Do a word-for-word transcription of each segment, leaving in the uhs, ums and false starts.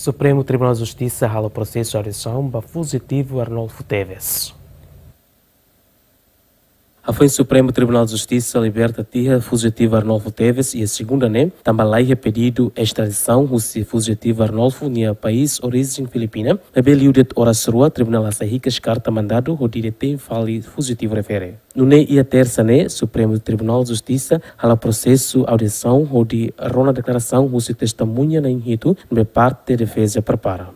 Supremu Tribunál Justisa halo prosesu audiasaun ba fujitivu Arnolfo Teves. Hafoin Supremu Tribunál Justisa liberta tiha fujitivu Arnolfo Teves iha segunda ne'e, tanba laiha pedidu estradisaun husi fujitivu Arnolfo nia país orijen Filipina, ne'ebé liu de'it oras rua, tribunál hasai hikas karta mandadu hodi detein fali fujitivu refere. Nune'e iha tersa ne'e, Supremu Tribunál Justisa halo prosesu audiasaun hodi rona deklarasaun husi testemuña na'in hitu ne'ebé parte defeza prepara.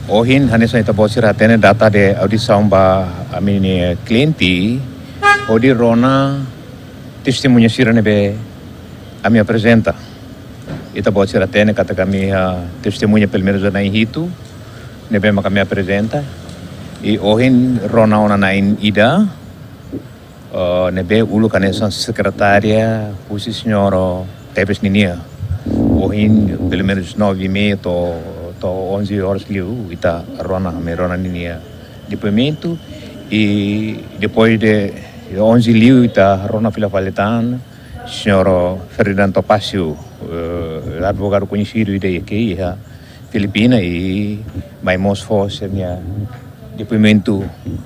Ohin, hanesan ita-boot sira hatene, data de audiasaun ba ami-nia kliente, hodi rona testemuña sira ne'ebé ami aprezenta. Ita-boot sira hatene katak ami, ah, testemuña pelumenus na'in hitu ne'ebé mak ami aprezenta. I ohin rona ona na'in ida, eh, ne'ebé uluk hanesan sekretária husi señór Teves ninia. Ohin, pelumenus nove e meia to'o, to'o onze horas liu, ita rona, ami rona ninia depoimentu. I depois de onze liu, ita rona fila fali tan señór Ferdinand Topacio, eh, advogadu koñesidu ida iha Filipina, i mai mós fó sira-nia depoimentu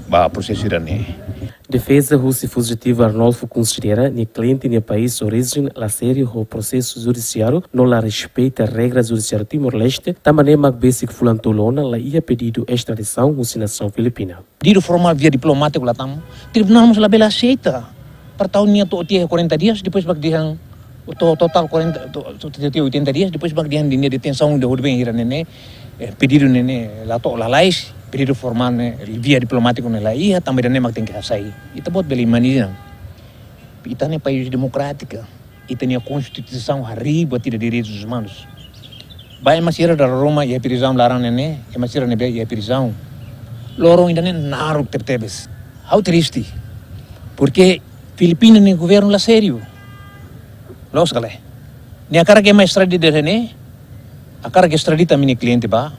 ba prosesu ida-ne'e. Defeza husi fujitivu Arnolfo konsidera nia kliente nia país orijen la sériu ho prosesu judisiáriu, no la respeita regra judisiáriu Timor-Leste, tanba ne'e mak besik fulan tolu ona la iha pedidu estradisaun husi nasaun Filipina. Pedidu formál via diplomátiku la tama, tribunál mós labele aseita. Para tau nia to'o tiha quarenta dias, depois mak dehan, to-, totál quarenta, to-, to-, tiha oitenta dias, depois mak dehan nia detensaun de hodi ben hira ne'e ne'e, eh, pedidu ne'e ne'e la to'o, lalais, pedidu formál ne'e via diplomátiku ne'e la iha, tanba ida-ne'e mak tenke hasai. Ita-boot bele imajina. Ita-nia país demokrátiku, ita-nia konstituisaun harii buat ida direitus umanus. Ba ema sira dala ruma iha prizaun laran ne'e ne'e, ema sira ne'ebé iha prizaun. Loron ida-ne'e naruk tebetebes. Ha'u triste. Porque Filipina nia governu la sériu. Loos ka lae? Nia hakarak ema estradita ne'e, hakarak estradita ami-nia kliente ba.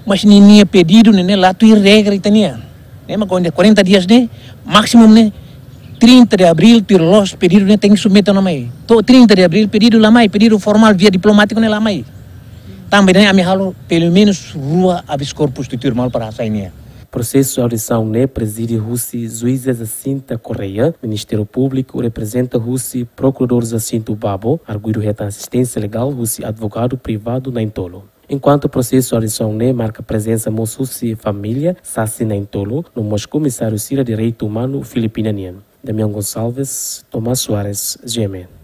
Mas ninia pedidu ne'e ne'e la tuir regra ita-nian. Ne'e mak kuandu quarenta dias ne'e, másimu ne'e, trinta de abril tuir loos pedidu ne'e tenke submete ona mai. To'o trinta de abril pedidu la mai, pedidu formál via diplomátiku ne'e la mai. Tanba ida-ne'e ami halo pelumenus rua habeas corpus tuir malu para hasai nia. Prosesu audiasaun ne'e prezide husi juíza Jacinta Correia, Ministériu Públiku reprezenta husi Prokuradór Jacinto Babo, arguidu hetan asisténsia legál husi advogadu privadu na'in-tolu. Enkuantu prosesu audiasaun ne'e marka prezensa mós husi família sasán na'in-tolu, no mós komisáriu sira direitu umanu Filipina nian. Damião Gonçalves, Tomás Soares, G M N.